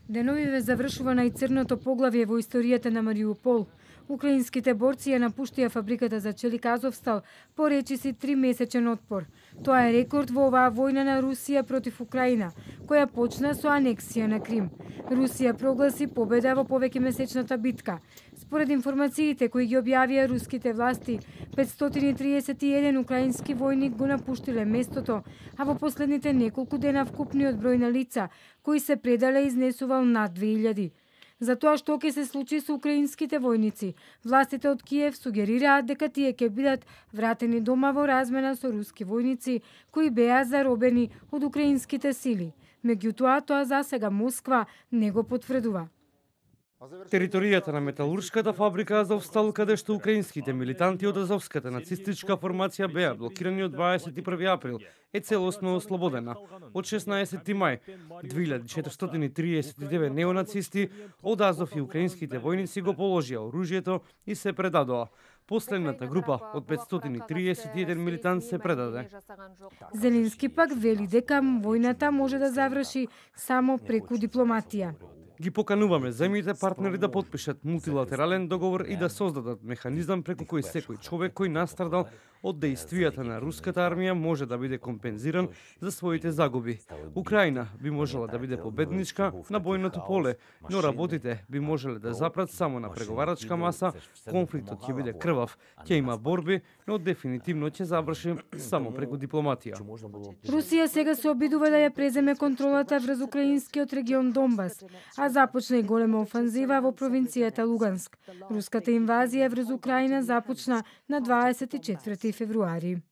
Деновиве завршува најцрното поглавје во историјата на Мариупол. Украинските борци ја напуштија фабриката за челик Азовстал по речиси 3-месечен отпор. Тоа е рекорд во оваа војна на Русија против Украина, која почна со анексија на Крим. Русија прогласи победа во повеќемесечната битка. Според информациите кои ги објавија руските власти, 531 украински војник го напуштиле местото, а во последните неколку дена вкупниот број на лица кои се предале изнесувал над 2000. За тоа што ќе се случи со украинските војници, властите од Киев сугерираат дека тие ќе бидат вратени дома во размена со руски војници кои беа заробени од украинските сили. Меѓутоа, тоа засега Москва не го потврдува. Територијата на металуршката фабрика Азовстал, каде што украинските милитанти од азовската нацистичка формација беа блокирани од 21 април, е целосно ослободена. Од 16 мај 2439 неонацисти од Азов и украинските војници го положија оружјето и се предадоа. Последната група од 531 милитант се предаде. Зеленски пак вели дека војната може да заврши само преку дипломатија. Ги покануваме земјите партнери да потпишат мултилатерален договор и да создадат механизам преку кој секој човек кој настрадал од дејствијата на руската армија може да биде компензиран за своите загуби. Украина би можела да биде победничка на бојното поле, но работите би можеле да запрат само на преговарачка маса, конфликтот ќе биде крвав, ќе има борби, но дефинитивно ќе заврши само преку дипломатија. Русија сега се обидува да ја преземе контролата врз украинскиот регион Донбас, а започна и голема офанзива во провинцијата Луганск. Руската инвазија врз Украина започна на 24 февруари.